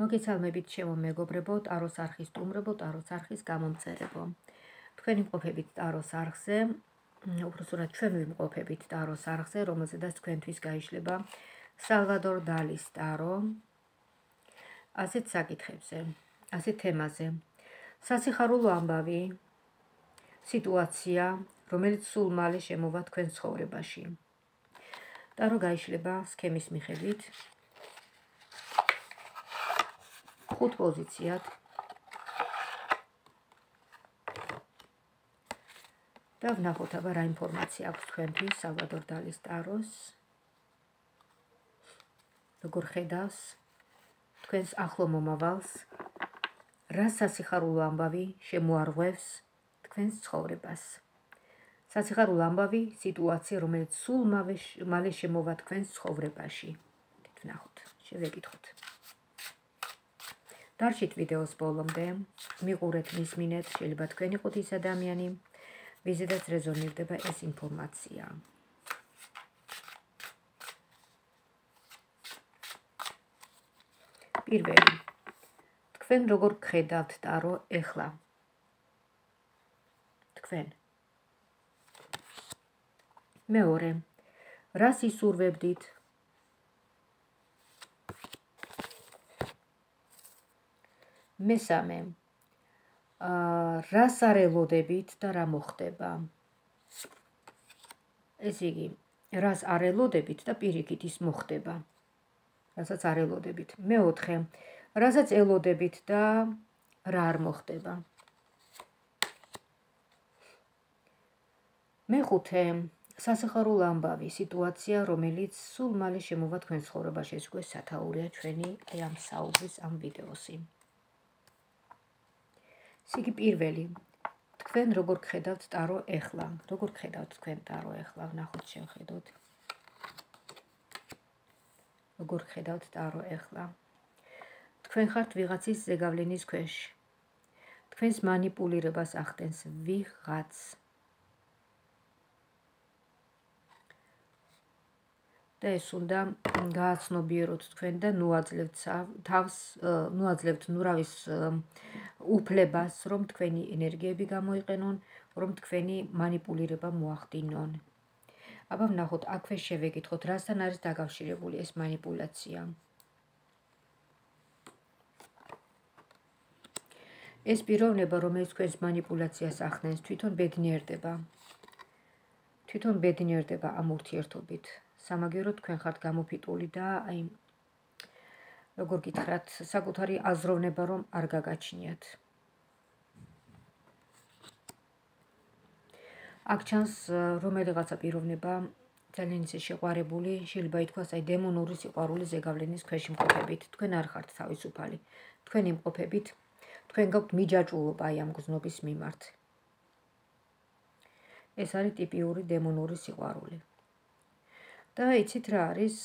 მოგესალმებით ჩემო მეგობრებო, ტაროს არხის სტუმრებო, ტაროს არხის გამომწერებო. თქვენი მყოფებით ტაროს არხზე, უბრალოდ ჩვენ ვიმყოფებით ტაროს არხზე, რომელზედაც თქვენთვის გაიშლება სალვადორ დალის ტარო. ასეთ საკითხებზე, ასეთ თემაზე. სასიხარულო ამბავი, სიტუაცია, რომელიც სულ მალე შემოვა თქვენ ცხოვრებაში. ტარო გაიშლება სქემის მიხედვით. 5 პოზიციად და ვნახოთ აბა რა ინფორმაცია აქვს თქვენთვის სალვადორ დალის ტაროს, როგორ ხედავს თქვენს ახლო მომავალს, რა სასიხარულო ამბავი შემოარღვევს თქვენს ცხოვრებას. სასიხარულო ამბავი, სიტუაცია, რომელიც სულ მალე შემოვა თქვენს ცხოვრებაში. ვნახოთ, შევეკითხოთ. დარჩით ვიდეოს ბოლომდე, მიყურეთ, მისმინეთ, შეიძლება თქვენ იყოთ ის ადამიანი, ვიზედაც რეზონირდება ეს ინფორმაცია. პირველი, თქვენ როგორ გხედავთ ტარო ეხლა? თქვენ. მეორე, რას ისურვებდით? მესამე, რას არ ელოდებით და რა მოხდება? ესე იგი, რას არ ელოდებით და პირიქით ის მოხდება, რასაც არ ელოდებით. მეოთხე, რასაც ელოდებით და რა არ მოხდება. მეხუთე, სასიხარულო ამბავი, სიტუაცია, რომელიც სულ მალე შემოვა თქვენ ცხოვრებაში. ეს უკვე სათაურია ჩვენი ამ საუბრის, ამ ვიდეოსი. იგი პირველი, თქვენ როგორ გხედავთ ტარო ეხლა? როგორ გხედავთ თქვენ ტარო ეხლა? ვნახოთ, შევხედოთ. როგორ გხედავთ ტარო ეხლა? თქვენ ხართ ვიღაცის ზეგავლენის ქვეშ. თქვენს მანიპულირებას ახდენს ვიღაც. და ეს უნდა გააცნობიეროთ თქვენ და ნუაძლევთ თავს, ნუაძლევთ ნურავის უფლებას, რომ თქვენი ენერგიები გამოიყენონ, რომ თქვენი მანიპულირება მოახდინონ. აბა ვნახოთ, აქვე შევეკითხოთ, რასთან არის დაკავშირებული ეს მანიპულაცია. ეს პიროვნება, რომელიც თქვენს მანიპულაციას ახდენს, თვითონ ბედნიერდება. თვითონ ბედნიერდება ამ ურთიერთობით. სამაგიეროდ თქვენ ხართ გამოფიტული და აი, როგორ გითხრათ, საკუთარი აზროვნება რომ არ გაგაჩნიათ. აქ ჩანს რომელიღაცა პიროვნება ძალიან ისე შეყვარებული, შეიძლება ითქვას აი დემონური სიყვარულის ზეგავლენის ქვეშ იმყოფებით. თქვენ არ ხართ თავისუფალი. თქვენ იმყოფებით, თქვენ გაქვთ მიჯაჭვულობა აი ამ გზნობის მიმართ. ეს არის ტიპიური დემონური სიყვარული. და იცით რა არის,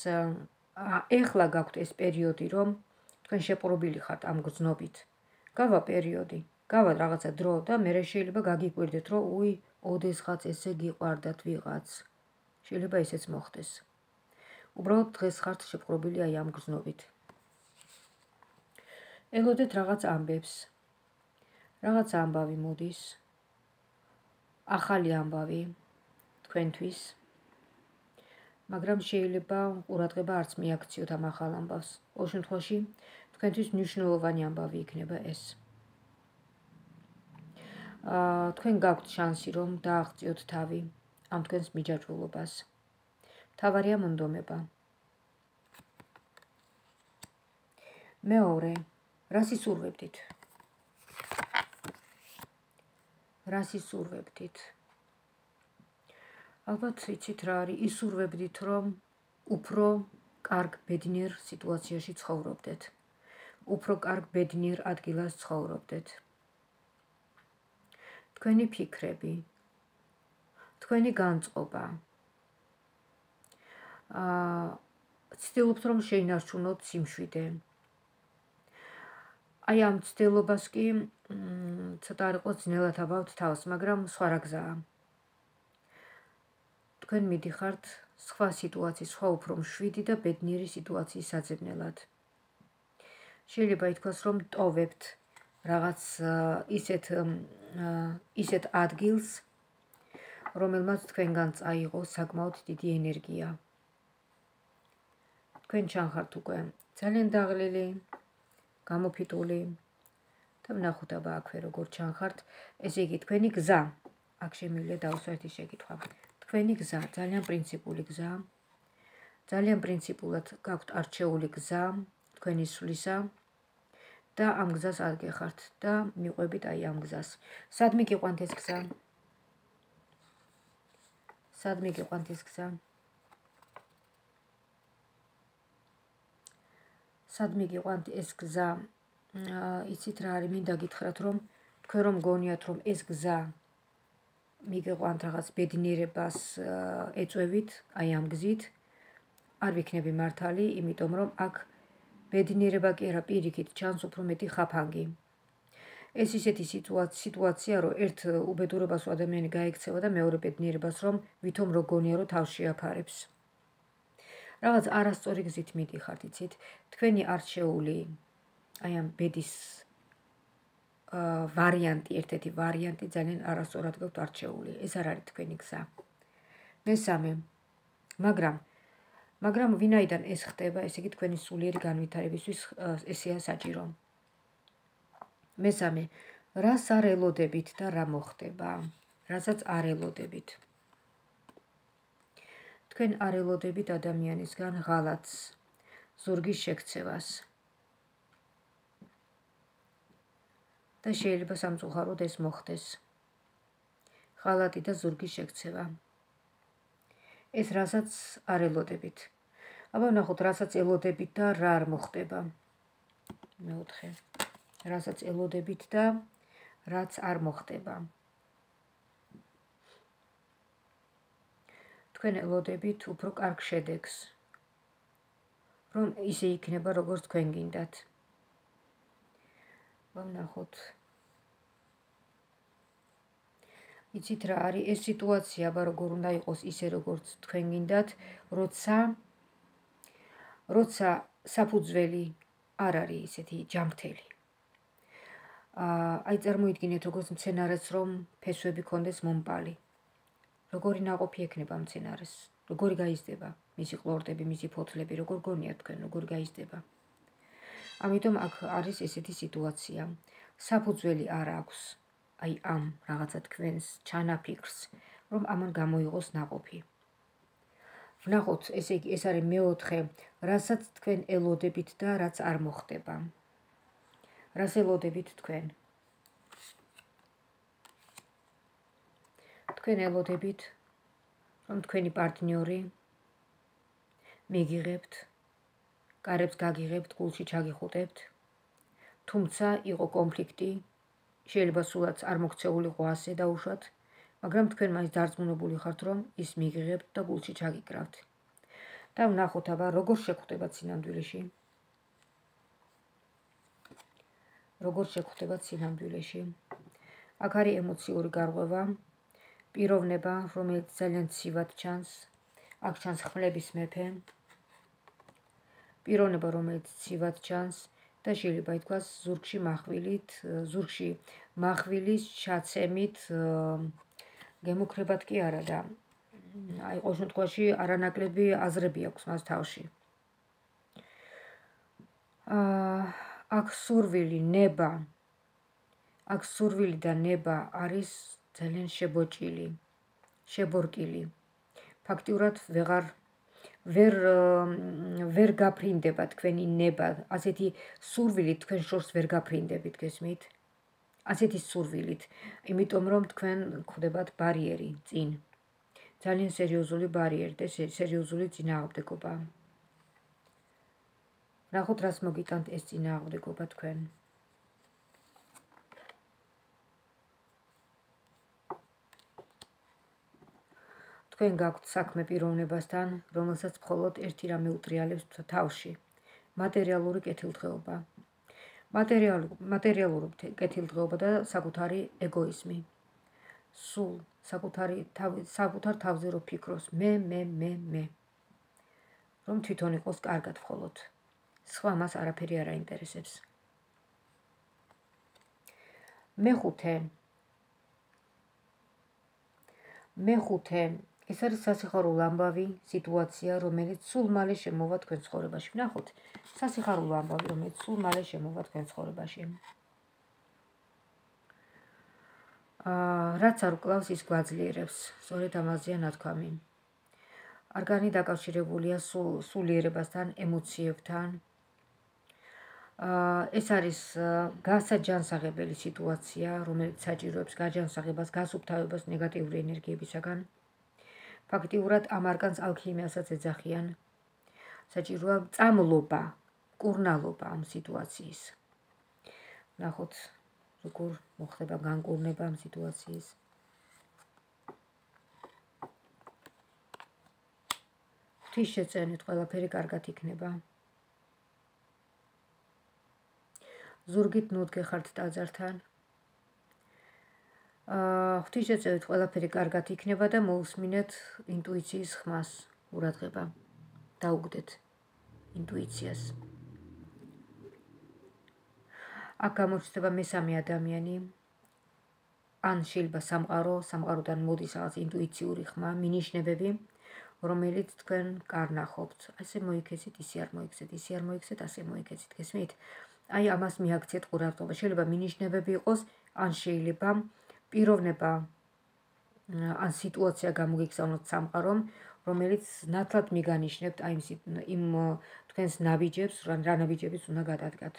ეხლა გაქვთ ეს პერიოდი, რომ თქვენ შეპყრობილი ხართ ამ გზნობით. გავა პერიოდი, გავა რაღაცა დრო და მერე შეიძლება გაგიკვირდეთ, რომ უი, ოდესღაც ესე გიყვარდათ ვიღაც. შეიძლება ესეც მოხდეს. უბრალოდ დღეს ხართ შეპყრობილი აი ამ გზნობით. ელოდეთ რაღაც ამბებს. რაღაც ამბავი მოდის. ახალი ამბავი თქვენთვის. მაგრამ შეიძლება ყურადღება არც მიაქციოთ ამ ახალ ამბავს. ყოველ შემთხვევაში თქვენთვის მნიშვნელოვანი ამბავი იქნება ეს. თქვენ გაქვთ შანსი, რომ დააღწიოთ თავი ამ თქვენს მიჯაჭვულობას. მთავარია მონდომება. მეორე, რას ისურვებდით? რას ისურვებდით? ალბათ იცით რა არის, ისურვებდით, რომ უფრო კარგ ბედნიერ სიტუაციაში ცხოვრობდეთ. უფრო კარგ ბედნიერ ადგილას ცხოვრობდეთ. თქვენი ფიქრები, თქვენი განწყობა. ცდილობთ, რომ შეინარჩუნოთ სიმშვიდე. აი ამ ცდილობას კი ცოტა არ იყოს ძნელად აბავთ თავს, მაგრამ სხვა რა გზაა. თქვენ მიდიხართ სხვა სიტუაციის, სხვა უფრო მშვიდი და ბედნიერი სიტუაციის საძებნელად. შეიძლება ითქვას, რომ ტოვებთ რაღაც ისეთ ადგილს, რომელმაც თქვენგან წაიღო საკმაოდ დიდი ენერგია. თქვენ ჩანხართ უკვე ძალიან დაღლილი, გამოფიტული და ვნახოთ აბა აქვე როგორ ჩანხართ. ესე იგი თქვენი გზა, აქ შემიძლია დავსვა ერთი შეკითხვა. თქვენი გზა, ძალიან პრინციპული გზა, ძალიან პრინციპულად გაქვთ არჩეული გზა თქვენი სვლისა და ამ გზას ადგეხართ და მიყვებით აი ამ გზას. სადმე გიყვანთ ეს გზა? სადმე გიყვანთ ეს გზა? სადმე გიყვანთ ეს გზა? იცით რა არის, მინდა გითხრათ, რომ თქვენ რომ გონიათ, რომ ეს გზა მიგიყვანთ რაღაც ბედნიერებას ეწევით, აი ამ გზით, არ ვიქნები მართალი, იმიტომ რომ აქ ბედნიერება კი არა, პირიქით ჩანს უფრო მეტი ხაფანგი. ეს ისეთი სიტუაცია, რომ ერთ უბედურებას ადამიანი გაიქცევა და მეორე ბედნიერებას რომ ვითომ რო გონია, რომ თავს შეაფარებს. რაღაც არასწორი გზით მიდიხართ, იცით? თქვენი არჩეული აი ამ ბედის ვარიანტი, ერთ-ერთი ვარიანტი ძალიან არასწორად გაქვთ არჩეული. ეს არ არის თქვენი გზა. მესამე, მაგრამ ვინაიდან ეს ხდება, ესე იგი თქვენი სულიერი განვითარებისთვის ესეა საჭირო. მესამე, რას არ ელოდებით და რა მოხდება? რასაც არ ელოდებით. თქვენ არ ელოდებით ადამიანისგან ღალატს, ზურგის შექცევას. და შეიძლება სამწუხაროდ ეს მოხდეს. ღალატი და ზურგის შექცევა. ეს რასაც არ ელოდებით. აბა ვნახოთ, რასაც ელოდებით და რა არ მოხდება. მეოთხე. რასაც ელოდებით და რაც არ მოხდება. თქვენ ელოდებით უფრო კარგ შედეგს, რომ ისე იქნება, როგორც თქვენ გინდათ. ვნახოთ. იცით რა არის ეს სიტუაცია, აბა როგორ უნდა იყოს ისე, როგორც თქვენ გინდათ, როცა საფუძველი არ არის ისეთი ჯანმრთელი. აი წარმოიდგინეთ, როგორც მცენარეს რომ ფესვები კონდეს მომპალი. როგორი ნაყოფი ექნება მცენარეს, როგორი გაიზრდება მისი ყლორტები, მისი ფოთლები, როგორ გონიათ თქვენ, როგორ გაიზრდება. ამიტომ აქ არის ესეთი სიტუაცია. საფუძველი არ აქვს აი ამ რაღაცა თქვენს ჩანაფიქრს, რომ ამან გამოიღოს ნაყოფი. ვნახოთ, ესე იგი ეს არის მეოთხე, რასაც თქვენ ელოდებით და რაც არ მოხდება. რას ელოდებით თქვენ? თქვენ ელოდებით, რომ თქვენი პარტნიორი მიგიღებთ, კარებს გაგიღებთ, გულში ჩაგიხუტებთ, თუმცა იყო კონფლიქტი, შეიძლება სულაც არ მოქცეულიყო ასე დაუშვათ, მაგრამ თქვენ მაინც დარწმუნებული ხართ, რომ ის მიგიღებთ და გულში ჩაგიკრავთ. და ვნახოთ აბა როგორ შეგხვდებათ სინამდვილეში. როგორ შეგხვდებათ სინამდვილეში. აქ არის ემოციური გარღვევა, პიროვნება, რომელიც ძალიან ცივად ჩანს, აქ ჩანს ხმლების მეფე, პიროვნება, რომელიც ცივად ჩანს და შეიძლება ითქვას ზურგში מחვილის ჩაცემით გემუქრებად კი არა და აი ყოველ შემთხვევაში არანაკლები აზრები აქვს მას თავში. აქ სურვილი და ნება არის ძალიან შებორკილი. ფაქტიურად ვერ გაფრინდება თქვენი ნება, ასეთი სურვილით თქვენ შორს ვერ გაფრინდებით, გესმით? ასეთი სურვილით, იმიტომ რომ თქვენ გვხვდებათ ბარიერი წინ. ძალიან სერიოზული ბარიერი და სერიოზული წინააღმდეგობა. ვნახოთ, რას მოგიტანთ ეს წინააღმდეგობა თქვენ. თქვენ გაქვთ საქმე პიროვნებასთან, რომელსაც მხოლოდ ერთი რამე უტრიალებს თავში. მატერიალური კეთილდღეობა. მატერიალური კეთილდღეობა და საკუთარი ეგოიზმი. სულ საკუთარ თავზე რო ფიქროს, მე. რომ თვითონ იყოს კარგად მხოლოდ. სხვა მას არაფერი არ აინტერესებს. მეხუთე ეს არის სასიხარულო ამბავი სიტუაცია, რომელიც სულ მალე შემოვა თქვენ ცხოვრებაში. ვნახოთ, სასიხარულო ამბავი, რომელიც სულ მალე შემოვა თქვენ ცხოვრებაში. რაც არ უკლავს, ის გვაძლიერებს. სწორედ ამაზეა ნათქვამი. არგანი დაკავშირებულია სულიერებასთან, ემოციებთან. ეს არის გასაჯანსაღებელი სიტუაცია, რომელიც საჭიროებს გაჯანსაღებას, გასუფთავებას ნეგატიური ენერგიებისაგან. ფაქტიურად ამ არგანს ალქიმიასაც ეძახიან. საჭიროა წამლობა, კურნალობა ამ სიტუაციის. ნახოთ, როგორ მოხდება განკურნება ამ სიტუაციის. ღვთისშეწენით ყველაფერი კარგად იქნება. ზურგით ნუ დგეხართ ტაძართან. ღვთისშეწევით ყველაფერი კარგად იქნება და მოусმინეთ ინტუიციის ხმას, ყურადღება. დაუგდეთ ინტუიციას. აქ გამოჩნდება მესამე ადამიანი. ან შეიძლება სამყაროდან მოდის რაღაც ინტუიციური ხმა, მინიშნებები, რომელიც თქვენ კარნახობთ. ასე მოიქცეთ, ისე არ მოიქცეთ, ისე არ მოიქცეთ, ასე მოიქცეთ. გესმით? აი ამას მიაქციეთ ყურადღება. შეიძლება მინიშნებები იყოს, ან შეიძლება პიროვნება ან სიტუაცია გამოგიგზავნოთ სამყარომ, რომელიც ნათლად მიგანიშნებთ აი იმ თქვენს ნაბიჯებს, რა ნაბიჯებიც უნდა გადადგათ.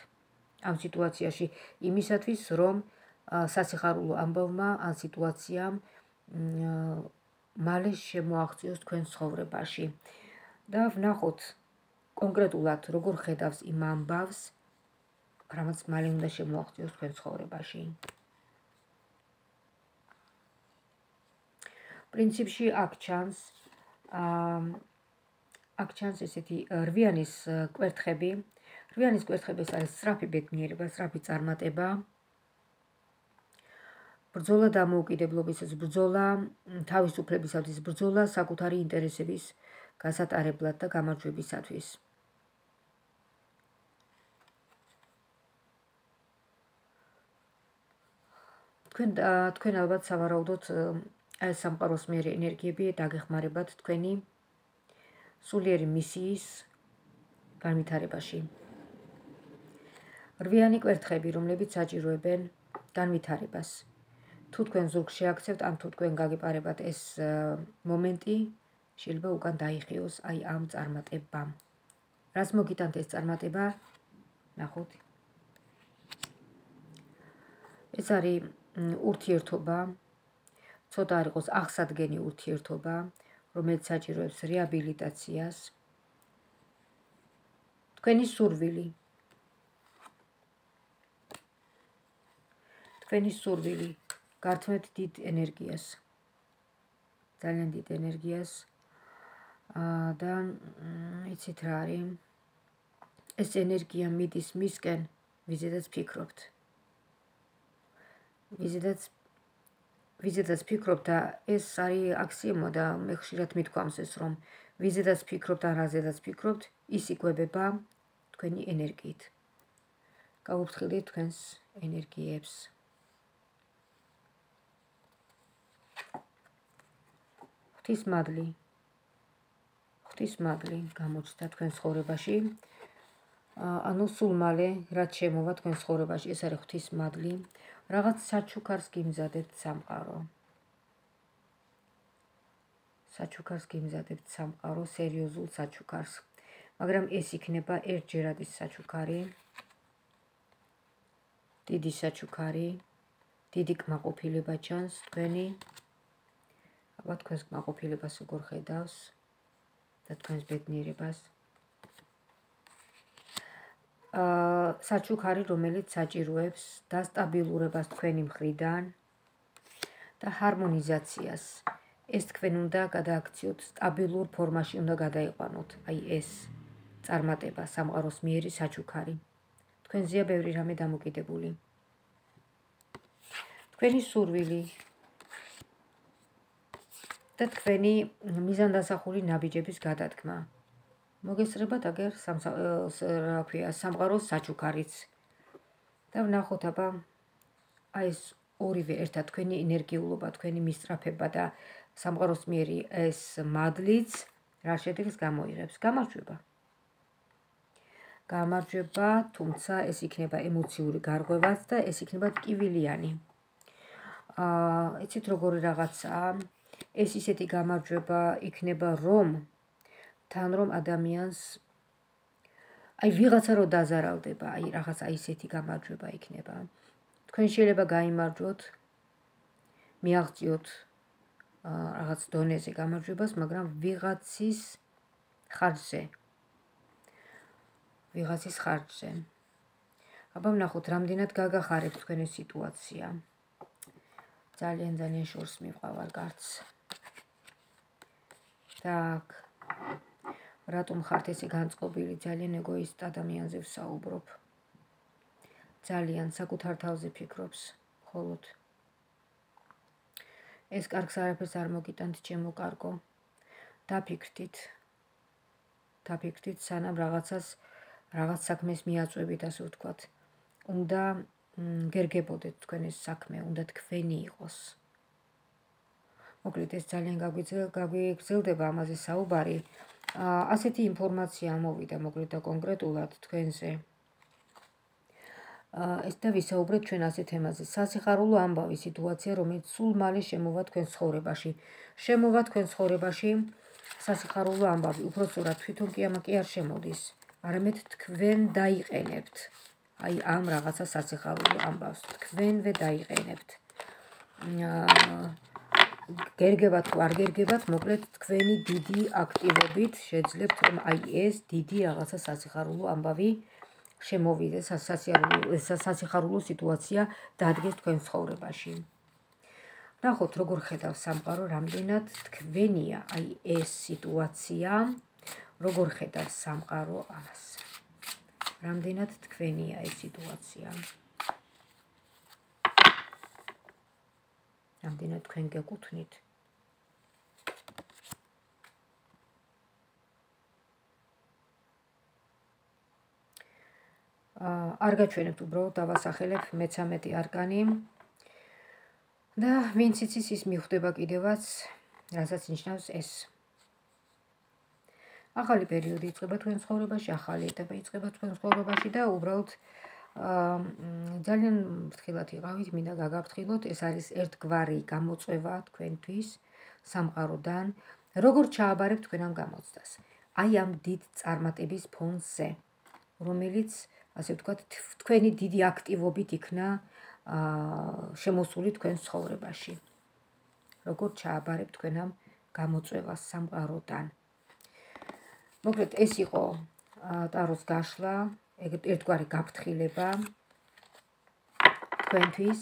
ამ სიტუაციაში იმისათვის, რომ სასიხარულო ამბავმა ან სიტუაციამ მალე შემოაღწიოს თქვენ ცხოვრებაში. და ვნახოთ კონკრეტულად როგორ ხედავს იმ ამბავს, რამაც მალე უნდა შემოაღწიოს თქვენ ცხოვრებაში. პრინციპში აქ ჩანს ესეთი რვიანის კვერთხები. რვიანის კვერთხები არის სწრაფი ბედნიერება, სწრაფი წარმატება. ბრძოლა დამოუკიდებლობისას, ბრძოლა თავისუფლებისათვის, ბრძოლა საკუთარი ინტერესების გასატარებლად და გამარჯვებისათვის. თქვენ ალბათ სავარაუდოდ აი სამყაროს მიერ ენერგიები დაგეხმარებათ თქვენი სულიერი მისიის განვითარებაში. რვიანი კვერთხები, რომლებიც საჭიროებენ განვითარებას. თუ თქვენ ზურგს შეაქცევთ, ან თუ თქვენ გაგეპარებათ ეს მომენტი, შეიძლება უკან დაიხიოს აი ამ წარმატებამ. რას მოგიტანთ ეს წარმატება? ნახოთ. ეს არის ურთიერთობა, ცოტა არ იყოს აღსადგენი ურთიერთობა, რომელიც საჭიროებს რეაბილიტაციას. თქვენი სურვილი გართმევთ დიდ ენერგიას, ძალიან დიდ ენერგიას და იცით რა არის, ეს ენერგია მიდის მისკენ, ვიზედაც ფიქრობთ. ვიზედაც ფიქრობთ და ეს არის აქსიომა და მე ხშირად მithქვამს ეს, რომ ვიზედაც ფიქრობთ ან რაზედაც ფიქრობთ, ის იკვებება თქვენი ენერგიით. გაუფრთხილდით თქვენს ენერგიებს. ღვთისმადლი გამოჩნდა თქვენ ცხოვრებაში. ანუ სულ მალე რაც შემოვა თქვენ ცხოვრებაში, ეს არის ღვთისმადლი. რაღაც საჩუქარს გიმზადებთ სამყარო. სერიოზულ საჩუქარს. მაგრამ ეს იქნება ერთჯერადის საჩუქარი. დიდი საჩუქარი, დიდი კმაყოფილება ჩანს თქვენი. აბა თქვენს კმაყოფილებას როგორ ხედავს და თქვენს ბედნიერებას. საჩუქარი, რომელიც საჭიროებს დასტაბილურებას თქვენი მხრიდან და ჰარმონიზაციას. ეს თქვენ უნდა გადააქციოთ, სტაბილურ ფორმაში უნდა გადაიყვანოთ. აი ეს წარმატება, სამყაროს მიერი საჩუქარი. თქვენზეა ბევრი რამე დამოკიდებული. თქვენი სურვილი და თქვენი მიზანდასახული ნაბიჯების გადადგმა. მოგესწრებათ აგერ რა ქვია, სამყაროს საჩუქარიც. და ვნახოთ აბა აი ეს ორივე ერთად თქვენი ენერგიულობა, თქვენი მისწრაფება და სამყაროს მიერი ეს მადლიც რა შედეგს გამოიღებს. გამარჯვება, თუმცა ეს იქნება ემოციური გარღვევაც და ეს იქნება ტკივილიანი. იცით როგორი რაღაცაა? ეს ისეთი გამარჯვება იქნება, რომ ადამიანს აი ვიღაცა რო დაზარალდება, აი რაღაცა ისეთი გამარჯვება იქნება. თქვენ შეიძლება გაიმარჯვოთ, მიაღწიოთ რაღაც დონეზე გამარჯვებას, მაგრამ ვიღაცის ხარჯზე. აბა ვნახოთ, რამდენად გაგახარებთ თქვენი სიტუაცია. ძალიან შორს მივყავარ გარც. так, რატომ ხართ ესე განწყობილი, ძალიან ეგოისტ ადამიანზე ვსაუბრობ. ძალიან საკუთარ თავზე ფიქრობს, მხოლოდ. ეს კარგს არაფერს არ მოგიტანთ, ჩემო კარგო. დაფიქრდით, სანამ რაღაც საქმეს მიაწვევით, ასე ვთქვათ. უნდა გერგებოდეთ თქვენ ეს საქმე, უნდა თქვენი იყოს. მოკლედ ეს ძალიან გაგვიგრძელდება ამაზე საუბარი. ასეთი ინფორმაცია მოვიდა მოკლედ და კონკრეტულად თქვენზე. ეს და ვისაუბრეთ ჩვენ ასე თემაზე. სასიხარულო ამბავი სიტუაცია, რომელიც სულ მალე შემოვა თქვენ ცხოვრებაში. სასიხარულო ამბავი, უпроსტად თვითონ კი არ შემოდის, არამედ თქვენ დაიყენებთ. აი ამ რაღაცა სასიხარულო ამბავს თქვენვე დაიყენებთ. გერგებათ თუ არ გერგებათ, მოკლედ თქვენი დიდი აქტივობით შეძლებთ, რომ აი ეს დიდი რაღაცა სასიხარულო ამბავი შემოვიდეს, სასიხარულო სიტუაცია დადგეს თქვენ ცხოვრებაში. ნახოთ, როგორ ხედავს სამყარო, რამდენად თქვენია აი ეს სიტუაცია, როგორ ხედავს სამყარო ამას. რამდენად თქვენია ეს სიტუაცია. რამდენად თქვენ გეკუთვნით. არ გაჩვენებთ, უბრალოდ დავასახელებ მე-13 არკანი. და ვინც იცის, ის მიხვდება კიდევაც, რასაც ნიშნავს ეს. ახალი პერიოდი იწყება თქვენ ცხოვრებაში, ახალი ეტაპი იწყება თქვენ ცხოვრებაში და უბრალოდ ძალიან ფრთხილად იყავით, მინდა გაგაფრთხილოთ, ეს არის ერთგვარი გამოწვევა თქვენთვის სამყაროდან, როგორ ჩააბარებთ თქვენ ამ გამოცდას. აი ამ დიდ წარმატების ფონზე, რომელიც, ასე ვთქვათ, თქვენი დიდი აქტივობით იქნა შემოსული თქვენ ცხოვრებაში. როგორ ჩააბარებთ თქვენ ამ გამოწვევას სამყაროდან. მოკლედ ეს იყო ტაროს გაშლა, ერთგვარი გაფრთხილება თქვენთვის.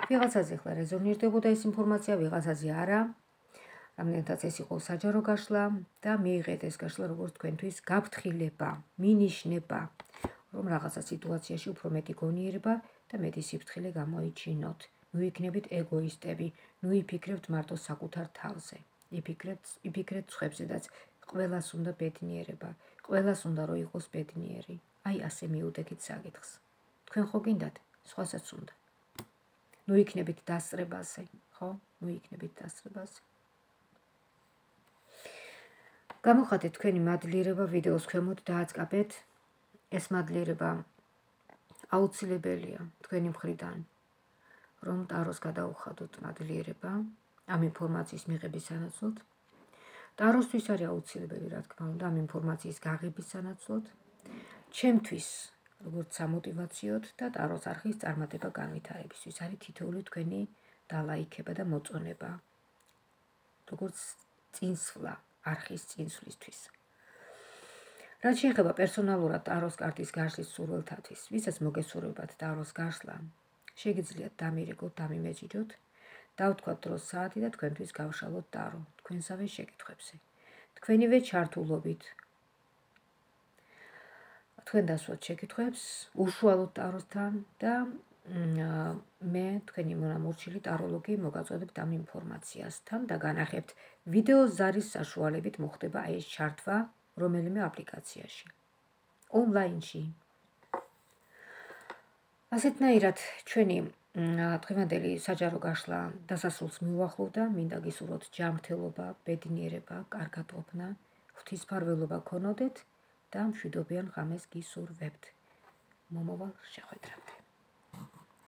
ვიღაცაზე ხლა რეზონირდებოდა ეს ინფორმაცია, ვიღაცაზე არა. რამდენადაც ეს იყო საჯარო გაშლა და მიიღეთ ეს გაშლა როგორც თქვენთვის გაფრთხილება, მინიშნება, რომ რაღაცა სიტუაციაში უფრო მეტი გონიერება და მეტი სიფრთხილე გამოიჩინოთ. ნუ იქნებით ეგოისტები, ნუ იფიქრებთ მარტო საკუთარ თავზე. იფიქრეთ სხვებზედაც. ყველას უნდა ბედნიერება, ყველას უნდა რომ იყოს ბედნიერი. აი ასე მიუდექით საკითხს. თქვენ ხო გინდათ, სხვასაც უნდა. ნუ იქნებით დასწრებაზე, ხო? ნუ იქნებით დასწრებაზე. გამოხატეთ თქვენი მადლიერება ვიდეოს ქვემოთ დააწყაბეთ. ეს მადლიერება აუცილებელია თქვენი მხრიდან, რომ ტაროს გადაუხადოთ მადლიერება ამ ინფორმაციის მიღების სანაცვლოდ. ტაროსთვის არის აუცილებელი, რა თქმა უნდა, ამ ინფორმაციის გაღების სანაცვლოდ. ჩემთვის, როგორც სამოტივაციოდ და ტაროს არხის წარმატება განვითარებისთვის არის თითოეული თქვენი დალაიქება და მოწონება. როგორც წინსვლა არხის წინსვლისთვის. რაც შეეხება პერსონალურად ტაროს კარტის გაშლის სურვილთათვის, ვისაც მოგესურვებათ ტაროს გაშლა, შეგიძლიათ დამირეკოთ, დამიმეჯიჯოთ, დავთქვათ დროს საათი და თქვენთვის გავშალოთ ტარო თქვენსავე შეკითხვებზე. თქვენივე ჩართულობით თქვენ დასვათ შეკითხვებს, უშუალოდ ტაროსთან და მე თქვენი მონამორჩილი ტაროლოგი მოგაწოდებთ ამ ინფორმაციასთან და განახებთ ვიდეო ზარის საშუალებით მოხდება ეს ჩართვა რომელიმე აპლიკაციაში, ონლაინში. ასეთნაირად ჩვენი დღევანდელი საჯარო გაშლა დასასრულს მიუახლოვდა. მინდა გისურვოთ ჯანმრთელობა, ბედნიერება, კარგადყოფნა, ღვთისმფარველობა გქონოდეთ და მშვიდობიან ღამეს გისურვებთ. მომავალ შეხვედრამდე.